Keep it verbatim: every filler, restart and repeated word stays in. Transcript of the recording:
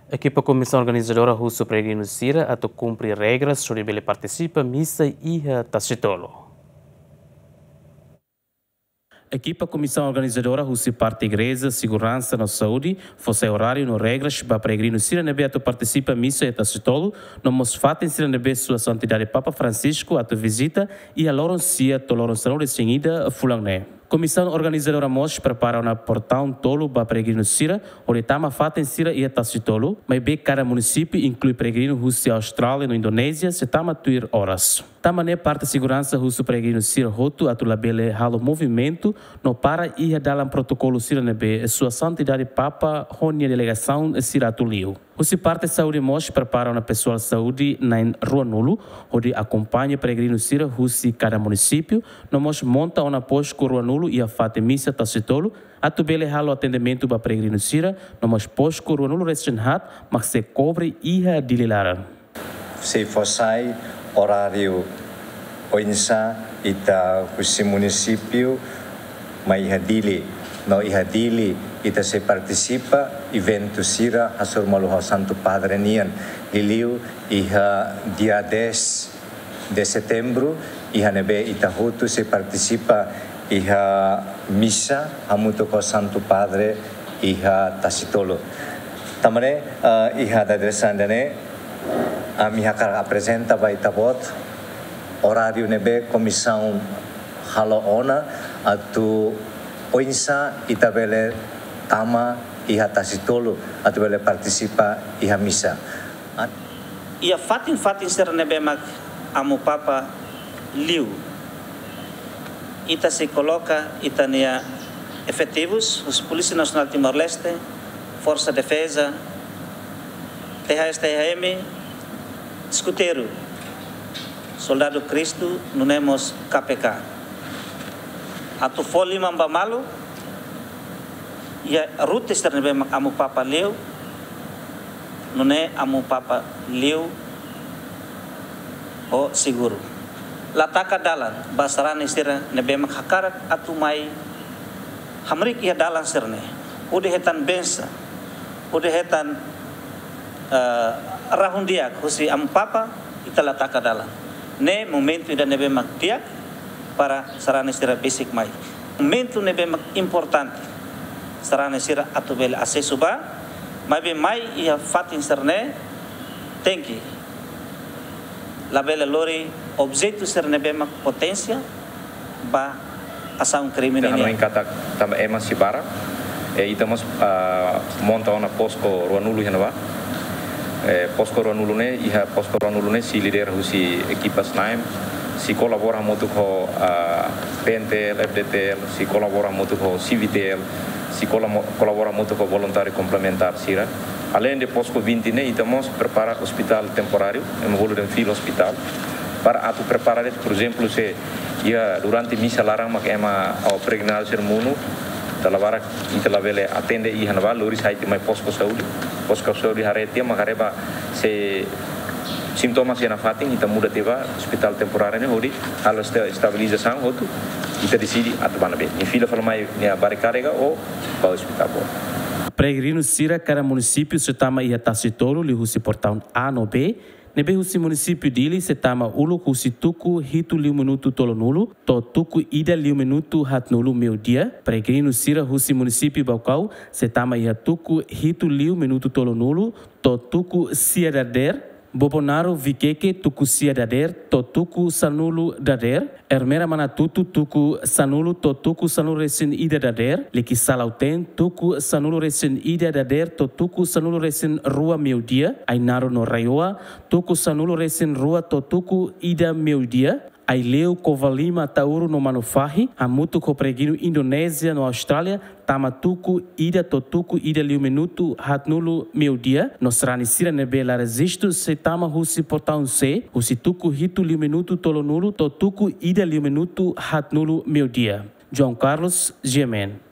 Ekipa Komisaun Organizadora husu peregrinu sira atu kumpre regras hodi bele partisipa misa iha Tasitolu. Ekipa Komisaun Organizadora husi parte Igreja, Seguransa no Saúde fó sai oráriu no regras ba peregrinu sira ne'ebé atu partisipa misa iha Tasitolu, no mós fatin sira ne'ebé Sua Santidade Papa Francisco atu vizita iha loron sia to'o loron sanulu-resin-ida fulan ne'e. Komisaun Organizadora mós prepara ona portaun tolu ba peregrinu sira hodi tama fatin sira iha Tasitolu, maibé kada munisípiu, inklui peregrinu husi Austrália no Indonézia, sei tama tuir oras. Tanba ne'e parte seguransa husu peregrinu sira hotu atu labele halo movimentu no para iha dalan protokolu sira ne'ebé Sua Santidade Papa ho nia delegasaun sira atu liu. Husi parte saúde mós prepara ona pesoál saúde na'in ruanulu hodi akompaña peregrinu sira husi kada munisípiu, no mós monta ona postu ruanulu iha fatin misa Tasitolu, atu bele halo atendimentu ba peregrinu sira, no mós postu ruanulu-resin-haat mak sei kobre iha Dili laran. Sei fó sai oráriu oinsá ita husi munisípiu mai iha Dili. No iha Dili ita sei partisipa eventu sira hasoru malu ho Santu Padre nian. Liuliu iha dia dez de Setembru, iha ne'ebé ita hotu sei partisipa iha misa hamutuk ho Santu Padre iha Tasitolu. Tanba ne'e, eh, iha dadeer-saan ida-ne'e, ami hakarak aprezenta ba ita-boot oráriu ne'ebé komisaun halo ona atu oinsá ita bele tama iha Tasitolu atu bele partisipa iha misa. Iha fatin-fatin sira ne'ebé mak Amu Papa liu, ita sei koloka ita-nia efetivus, husi Polísia Nasionál Timor-Leste, Forsa Defeza, T H S T H M, eskuteiru, Soldadu Kristu, nune'e mós K P K. Atu fó liman ba malu, iha rute sira ne'ebé mak Amu Papa liu, nune'e Amu Papa liu ho seguru. La taka dalan ba sarani sira ne'ebé mak hakarak atu mai hamriik iha dalan sira-ne'e. Hodi hetan bensaun, hodi hetan, eh, rahun-di'ak husi Amu Papa, ita la taka dalan. Ne'e momentu ida ne'ebé mak di'ak para sarani sira besik mai. Momentu ne'ebé mak importante sarani sira atu bele asesu ba, maibé mai iha fatin sira-ne'e tenke labele lori objetu sira ne'ebé mak potensiál ba asaun krime nian. Hanoin katak tanba ema sei barak, eh, ita mós, ah, monta ona posko ruanulu iha ne'ebá. Eh, posko ruanulu ne'e, iha posko ruanulu ne'e sei lidera husi ekipa SNAEM, sei kolabora hamutuk ho, ah, P N T L, F D T L, sei kolabora hamutuk ho CVTL, sei kolamo-, kolabora hamutuk ho voluntáriu komplementár sira. Aleinde posko vinte ne'e, ita mós prepara ospitál temporáriu, ema bolu dehan field hospital, para atu prepara de'it, por ezemplu, se iha durante misa laran mak ema, o, peregrinadu sira monu, dala barak ita labele atende iha ne'ebá, lori sai tiha mai posko saúde. Posko saúde haree tiha, mak haree ba se sintomas iha nafatin, ita muda tiha ba ospitál temporáriu ne'e hodi halo esta-, estabilizasaun hotu, ita deside atu ba ne'ebé. Nia fila fali mai nia barik karrega ou ba ospitál boot. Peregrinu sira kada munisípiu sei tama iha Tasitolu liuhusi portaun A no B, ne'ebé husi munisípiu Dili sei tama uluk husi tuku hitu liu minutu tolunulu to'o tuku ida liu minutu haatnulu meiudia. Peregrinu sira husi munisípiu Baucau sei tama iha tuku hitu liu minutu tolunulu to'o tuku sia dadeer. Bobonaro Viqueque tuku sia dadeer to'o tuku sanulu dadeer. Ermera Manatuto tuku sanulu to'o tuku sanulu-resin-ida dadeer. Likisá Lautém tuku sanulu-resin-ida dadeer to'o tuku sanulu-resin-rua meiudia. Ainaro no RAEOA tuku sanulu-resin-rua to'o tuku ida meiudia. Aileu, Covalima, Ataúro no Manufahi, hamutuk ho peregrinu Indonézia no Austrália, tama tuku ida to'o tuku ida liu minutu haatnulu meiudia, no sarani sira ne'ebé la rejistu sei tama husi portaun C, husi tuku hitu liu minutu tolunulu to'o tuku ida liu minutu haatnulu meiudia. João Carlos, G M N.